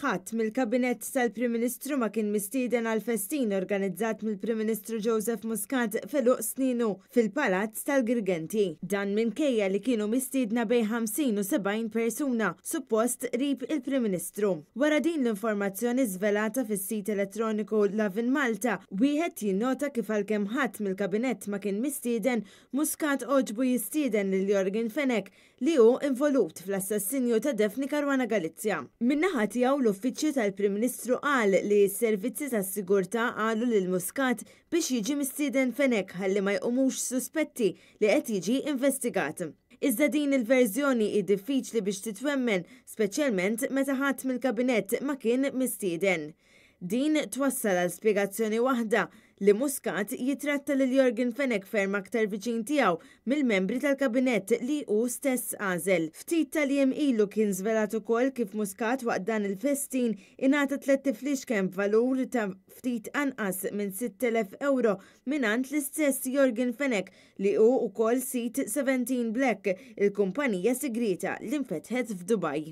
Ħadd mill-Kabinett tal-Prim Ministru ma kien mistieden għall-festin organizzat mill-Prim Ministru Joseph Muscat f'għeluq sninu fil-Palazz tal-Girgenti. Dan minkejja li kienu mistiedna bejn 50 u 70 persuna, suppost qrib il-Prim Ministru. Wara din l-informazzjoni żvelata fis-sit elettroniku Lovin Malta, wieħed jinnota kif għalkemm ħadd mill-Kabinett ma kien mistieden, Muscat għoġbu jistieden lil Yorgen Fenech li hu involut fl-assassinju ta' Daphne Caruana Galizia. Min-naħa tiegħu l-Uffiċċju tal-Prim Ministru qal li s-servizzi tas-sigurtà qalu lil Muscat biex jiġi mistieden Fenech ħalli ma jqumux suspetti li qed jiġi investigat. Iżda din il-verżjoni hi diffiċli biex titwemmen, speċjalment meta ħadd mill-Kabinett ma kien mistieden. Din twassal għal spjegazzjoni waħda, li Muscat jitratta lil Yorgen Fenech ferm aktar viċin tiegħu mill-membri tal-Kabinett li hu stess għażel. Ftit tal-jiem ilu kien żvelat ukoll kif Muscat waqt dan il-festin ingħata tlett ifliexken b'valur ta' ftit anqas minn 6,000 ewro mingħand l-istess Yorgen Fenech li hu wkoll sid 17 Black, il-kumpanija sigrieta li nfetħet f'Dubaj.